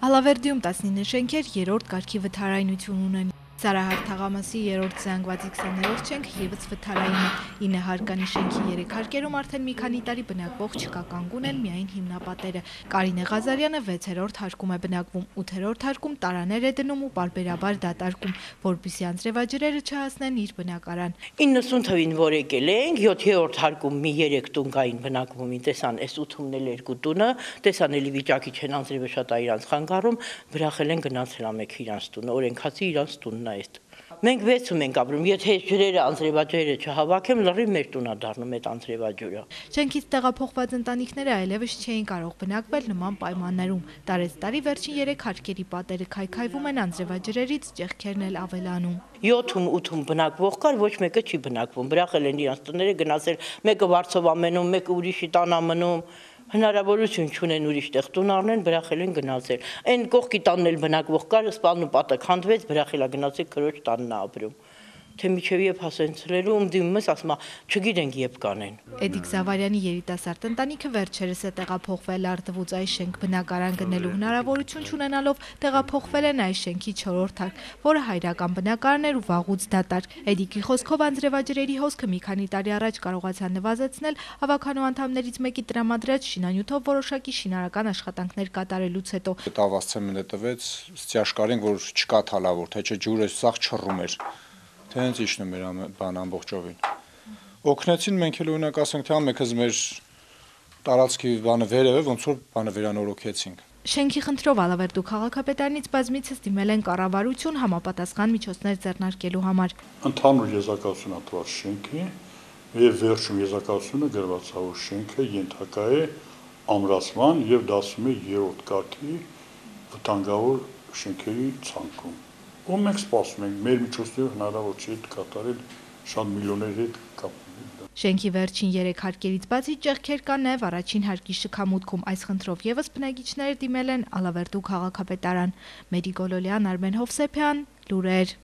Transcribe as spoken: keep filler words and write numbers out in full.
Ալավերդիում տասնինը շենքեր երրորդ կարգի վթարայնություն ունեն։ Սարահար թաղամասի երրորդ զանգվածի քսաներորդ շենք ևս վթարային է։ ինը հարկանի շենքի երեք հարկերում արդեն մի քանի տարի բնակվող չկա, կանգուն են միայն հիմնապատերը։ Կարինե Ղազարյանը վեցերորդ հարկում է բնակվում, ութերորդ հարկում տարաներ է դնում ու պարբերաբար դատարկում, որպեսզի անձրևաջրերը չհասնեն իր բնակարան։ իննսուն թվին որ եկել ենք, յոթերորդ հարկում մի երեք տուն կային բնակվում, տեսան այս ութումն էլ երկու տունը, տեսան էլի վիճակի չեն անձրևը շատ է իրանց խանգարում, վրախել են գնացել ամեկ իրանց տունը, օրենքացի իրանց տունն է այդ։ Մենք վեցում ենք ապրում, եթե ջրերը անձրևաջրերը չհավաքեմ, լրիվ մեր տունն է դառնում այդ անձրևաջուրը։ Շենքից տեղափոխված ընտանիքները այլևս չէին կարող բնակվել նման պայմաններում։ Տարեստարի վերջին երեք հարկերի պատերը քայքայվում են անձրևաջրերից, ճեղքերն էլ ավելանում։ յոթում ութում բնակվող կար, ոչ մեկը չի բնակվում, վրախել են իրանց տները գնացել, մեկը վարձով ամենում, մեկը ուրիշի տան ամնում, հնարավորություն չունեն ուրիշ տեղ տուն առնեն, վրախել են գնացել։ Այն կողքի տանն էլ բնակվող կար, սպալն ու պատը քանդվեց, վրախել է գնացել քրոջ տանն է ապրում։ Թե միջև երբ հասցնելու ում դիմումս ասում է, չգիտենք երբ կանեն։ Էդիկ Զավարյանի երիտասարդ ընտանիքը վերջերս է տեղափոխվել Արդվուց այս շենք բնակարան գնելու հնարավորություն չունենալով տեղափոխվել են այս շենքի չորրորդ հարկ, որը հայրական բնակարան էր ու վաղուց դատարկ։ Էդիկի խոսքով անձրևաջրերի հոսքը մի քանի տարի առաջ կարողացան նվազեցնել ավականու անդամներից մեկի տրամադրած շինանյութով որոշակի շինարական աշխատանքներ կատարելուց հետո։ Տավասցեմենտը տվեց, ստիաշկարին, որ չկա թալավոր, թե չէ ջուրը սաղ չռում էր։ Թե հենց իջնում էր բան ամբողջովին։ Օգնեցին մենք էլ օրինակ ասենք թե ամեքս մեր տարածքի բանը վերև է, ոնց որ բանը վերանորոգեցինք։ Շենքի խնդրով Ալավերդու քաղաքապետարանից բազմիցս դիմել են կառավարություն համապատասխան միջոցներ ձեռնարկելու համար։ Ընդհանուր եզրակացություն ատված շենքի եւ վերջում եզրակացությունը գրված է, որ շենքը ենթակա է ամրացման եւ դասում է երրորդ կարգի վտանգավոր շենքերի ցանկում։ Ու մենք սպասում ենք, մեր միջոցներով հնարավոր չի կատարել շատ միլիոնների հետ կապ։ Շենքի վերջին երեք հարկերից բացի ճեղքեր կան նաև առաջին հարկի շքամուտքում։ Այս խնդրով ևս բնակիչները դիմել են Ալավերդու քաղաքապետարան։ Մերի Գոլոլյան, Արմեն Հովսեփյան, լուրեր։